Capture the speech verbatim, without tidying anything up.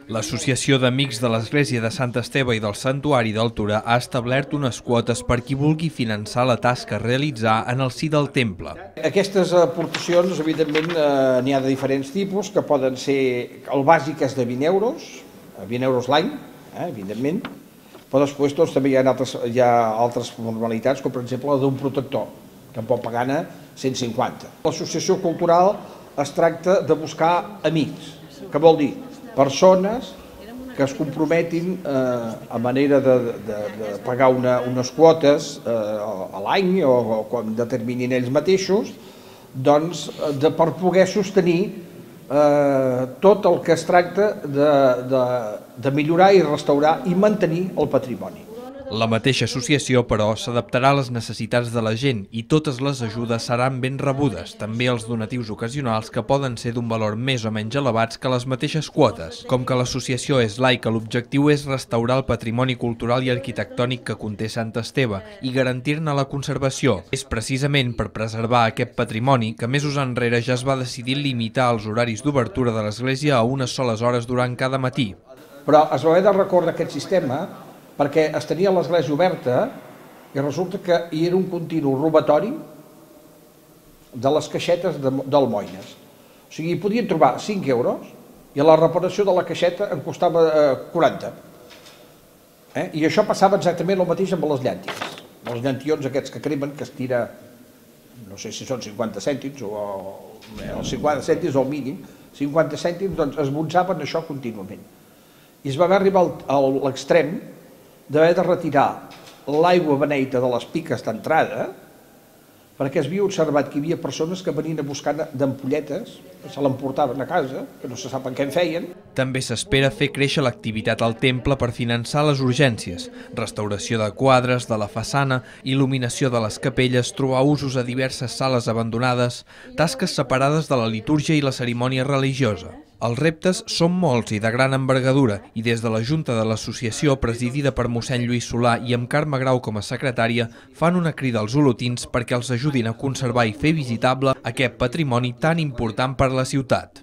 L'Associació d'Amics de l'Església de Sant Esteve i del Santuari del Torà ha establert unes quotes per qui vulgui finançar la tasca a realitzar en el si del temple. Aquestes aportacions, evidentment, eh, n'hi ha de diferents tipus, que poden ser, el bàsic és de vint euros, vint euros l'any, eh, evidentment, però després doncs, també hi ha, altres, hi ha altres formalitats, com per exemple la d'un protector, que en pot pagar cent cinquanta. L'associació cultural es tracta de buscar amics, que vol dir persones que es comprometin eh, a manera de, de, de pagar una, unes quotes eh, a l'any o, o quan determinin ells mateixos, doncs, de, per poder sostenir eh, tot el que es tracta de, de, de millorar i restaurar i mantenir el patrimoni. La mateixa associació, però, s'adaptarà a les necessitats de la gent i totes les ajudes seran ben rebudes, també els donatius ocasionals que poden ser d'un valor més o menys elevats que les mateixes quotes. Com que l'associació és laica, l'objectiu és restaurar el patrimoni cultural i arquitectònic que conté Sant Esteve i garantir-ne la conservació. És precisament per preservar aquest patrimoni que mesos enrere ja es va decidir limitar els horaris d'obertura de l'església a unes soles hores durant cada matí. Però es va haver de recórrer aquest sistema perquè es tenia l'església oberta i resulta que hi era un continu robatori de les caixetes d'almoines. O sigui, hi podien trobar cinc euros i la reparació de la caixeta en costava quaranta. Eh? I això passava exactament el mateix amb les llànties. Els llantions aquests que cremen, que es tira, no sé si són cinquanta cèntims o els cinquanta cèntims o el mínim, cinquanta cèntims, doncs es bonsaven això contínuament. I es va haver arribar a l'extrem d'haver de retirar l'aigua beneita de les piques d'entrada perquè es havia observat que hi havia persones que venien a buscar d'ampolletes, que se l'emportaven a casa, que no se sap en què en feien. També s'espera fer créixer l'activitat al temple per finançar les urgències, restauració de quadres, de la façana, il·luminació de les capelles, trobar usos a diverses sales abandonades, tasques separades de la litúrgia i la cerimònia religiosa. Els reptes són molts i de gran envergadura i des de la Junta de l'Associació, presidida per mossèn Lluís Solà i amb Carme Grau com a secretària, fan una crida als olotins perquè els ajudin a conservar i fer visitable aquest patrimoni tan important per a la ciutat.